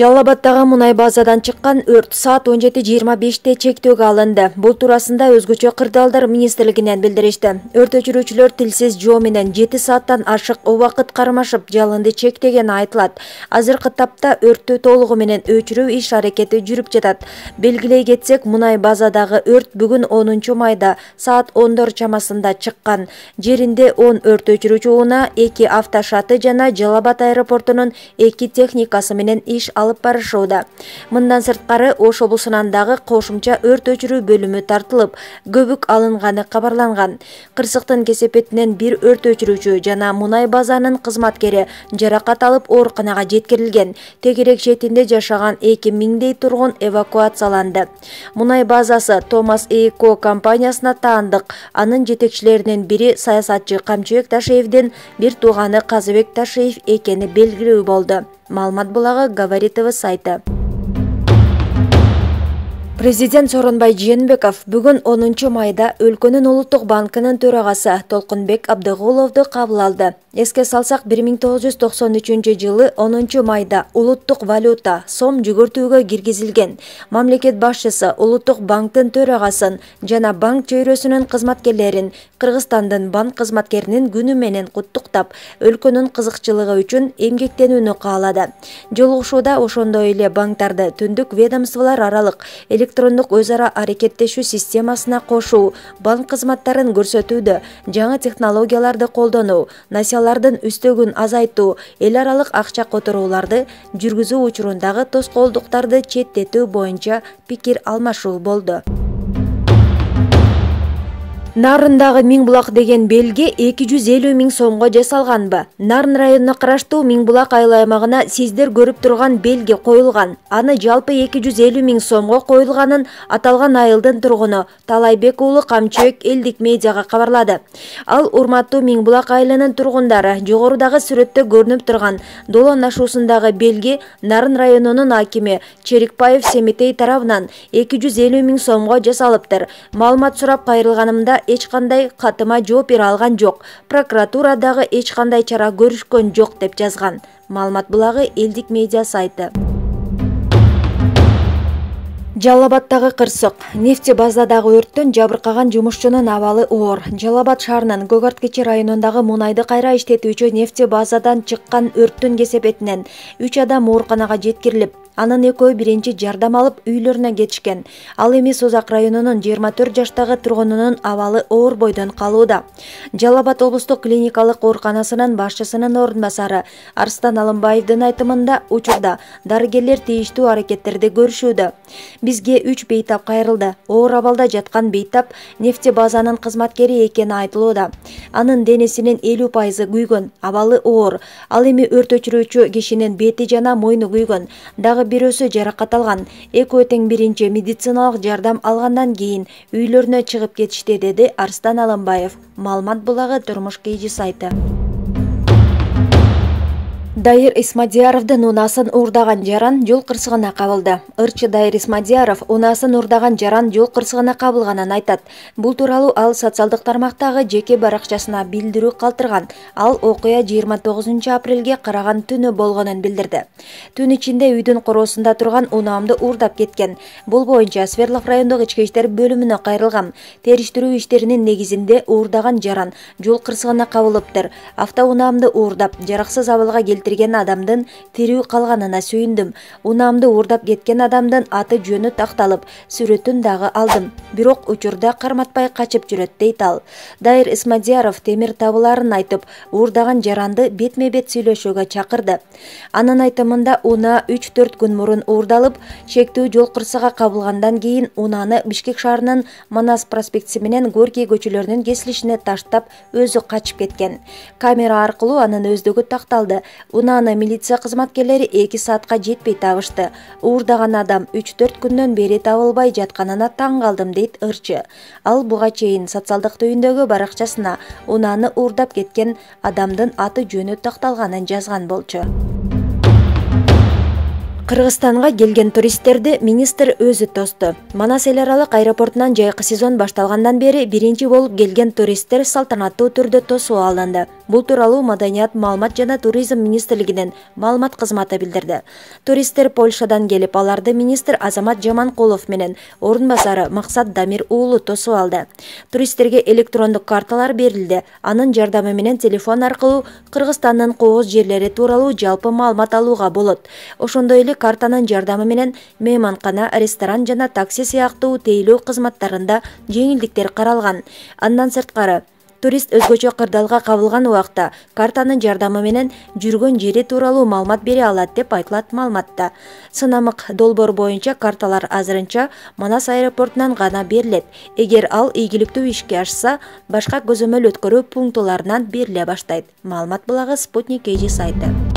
Жалал Абаддагы мунай базадан чыккан өрт саат 17:25 чектөөгө алынды. Бул туурасында өзгөчө кырдаалдар министрлигинен билдиришти. Өрт өчүрүүчүлөр тилсиз жоо менен 7 сааттан ашык убакыт кармашып жалынды чектегени айтылат. Азыркы тапта өрттү толугу менен өчүрүү иш аракети жүрүп жатат. Белгилей кетсек, мунай базадагы өрт бүгүн 10 майда саат 10 чамасында чыккан. Жеринде 10 өрт өчүрүүчү унаа, 2 автошаты жана Жалал Абад аэропортунун 2 техникасы менен иш алып барышууда. Мындан сырткары Ош облусунан дагы кошумча өрт өчүрүү бөлүмү тартылып, көбүк алынганы кабарланган. Кырсыктын кесепетинен бир өрт өчүрүүчү жана мунай базанын кызматкери жаракат алып ооруканага жеткирилген. Тегерек четинде жашаган 2000дей тургун эвакуацияланды. Мунай базасы Томас Эйко компаниясына таандык. Анын жетекчилеринин бири саясатчы Камчыбек Ташиевдин бир тууганы Казыбек Ташиев экени белгилүү болду. Маалымат булагы Говорит ТВ сайты. Президент Сооронбай Жээнбеков бүгүн 10 майда өлкөнүн Улуттук банкынын төрагасы Толкунбек Абдыгуловду кабыл алды. Эске салсак, 1993 жылы 10 майда улуттук валюта сом жүгүртүүгө киргизилген. Мамлекет башчысы Улуттук банктын төрагасын жана банк чөйрөсүнүн кызматкерлерин Кыргызстандын банк кызматкеринин күнү менен куттуктап, өлкөнүн кызыкчылыгы үчүн эмгектенүүнү каалады. Жолугушууда ошондой эле банктарды түндүк ведомстволор аралык электрондук өз ара аракеттешүү системасына кошуу, банк кызматтарын көрсөтүүдө жаңы технологияларды колдонуу, насиялардын үстөгүн азайтуу, эл аралык акча которууларды жүргүзүү учурундагы тоскоолдуктарды четтетүү боюнча пикир алмашуу болду. Нарындагы Миңбулак деген белги 250 000 сомго жасалганбы? Нарын районуна караштуу Миңбулак айыл аймагына сиздер көрүп турган белги коюлган. Аны жалпы 250 000 сомго коюлганын аталган айылдын тургуну Талайбек уулу Камчыбек элдик медиага кабарлады. Ал урматтуу Миңбулак айылынын тургундары, жогорудагы сүрөттө көрүнүп турган долон ашуусундагы белги Нарын районунун акими Черикбаев Семетей тарабынан 250 000 сомго жасалыптыр. Маалымат сурап кайрылганымда эч кандай катыма жооп бере алган жок. Прокуратура дагы эч кандай чара көрүшкөн жок деп жазган. Маалымат булагы элдик медиа сайты. Жалал Абаддагы кырсык. Нефти базадагы өрттөн жабыркаган жумушчунун абалы оор. Жалал Абад шаарынын Көк Кечи районундагы мунайды кайра иштетүүчү нефти базадан чыккан өрттүн кесепетинен 3 адам ооруканага жеткирилип, анын экөө биринчи жардам алып үйлөрүнө кетишкен. Ал эми Созак районунун 24 жаштагы тургунунун абалы оор бойдон калууда. Жалал Абад облустук клиникалык ооруканасынын башчысынын орун басары Арстан Алымбаевдин айтымында, учурда дарыгерлер тийиштүү аракеттерди көрүшүүдө. Бизге 3 бейтап кайрылды. Оор абалда жаткан бейтап нефти базанын кызматкери экени айтылууда. Анын денесинин 50% күйгөн, абалы оор. Ал эми өрт өчүрүүчү кишинин бети жана мойну күйгөн. Дагы бирөөсү жаракат алган. Экөө тең биринчи медициналык жардам алгандан кийин үйлөрүнө чыгып кетишти, деди Арстан Алымбаев. Маалымат булагы Турмуш КЖ сайты. Дайыр Исмадияровдун унаасын уурдаган жаран жол кырсыгына кабылды. Ырчы Дайыр Исмадияров унаасын уурдаган жаран жол кырсыгына кабылганын айтат. Бул тууралуу ал социалдык тармактагы жеке баракчасына билдирүү калтырган. Ал окуя 29 апрелге караган түнү болгонун билдирди. Түн ичинде үйдүн короосунда турган унаамды уурдап кеткен. Бул боюнча Свердлов райондук ички иштер бөлүмүнө кайрылган. Териштирүү иштеринин негизинде уурдаган жаран жол кырсыгына кабылыптыр. Автоунаамды уурдап, жараксыз абалга келтирген адамдын тирүү калганына сүйүндүм. Унаамды уурдап кеткен адамдын аты жөнү такталып, сүрөтүн дагы алдым. Бирок учурда карматпай качып жүрөт, дейт ал. Дайыр Исмадияров темир табыларын айтып, уурдаган жаранды бетме-бет сүйлөшүүгө чакырды. Анын айтымында унаа 3-4 күн мурун уурдалып, чектүү жол кырсыгга кабылгандан кийин унааны Бишкек шаарынын Манас проспектиси менен Горький көчөлөрүнүн кесилишине таштап, өзү качып кеткен. Камера аркылуу анын өздүгү такталды. Унааны милиция кызматкерлери 2 саатка жетпей табышты. Уурдаган адам 3-4 күндөн бери табылбай жатканына таң калдым, дейт ырчы. Ал буга чейин социалдык түйүндөгү баракчасына унааны уурдап кеткен адамдын аты жөнү такталганын жазган болчу. Кыргызстанга келген туристтерди министр өзү тосту. Манас эл аралык аэропортунан жайкы сезон башталгандан бери биринчи болуп келген туристтер салтанаттуу түрдө тосуп алынды. Бул тууралуу Маданият, маалымат жана туризм министрлигинин маалымат кызматы билдирди. Туристтер Польшадан келип, аларды министр Азамат Жаманкулов менен орун басары Максат Дамир уулу тосуп алды. Туристтерге электрондук карталар берилди. Анын жардамы менен телефон аркылуу Кыргызстандын кооз жерлери тууралуу жалпы маалымат алууга болот. Ошондой эле картанын жардамы менен мейманкана, ресторан жана такси сыяктуу тейлөө кызматтарында жеңилдиктер каралган. Андан сырткары, турист өзгөчө кырдаалга кабылган убакта картанын жардамы менен жүргөн жери тууралуу маалымат бере алат деп айтылат маалыматта. Сынамык долбоор боюнча карталар азырынча Манас аэропортунан гана берилет. Эгер ал ийгиликтүү ишке ашса, башка көзөмөл өткөрүү пунктуларынан бериле баштайт. Маалымат булагы Спутник KG сайты.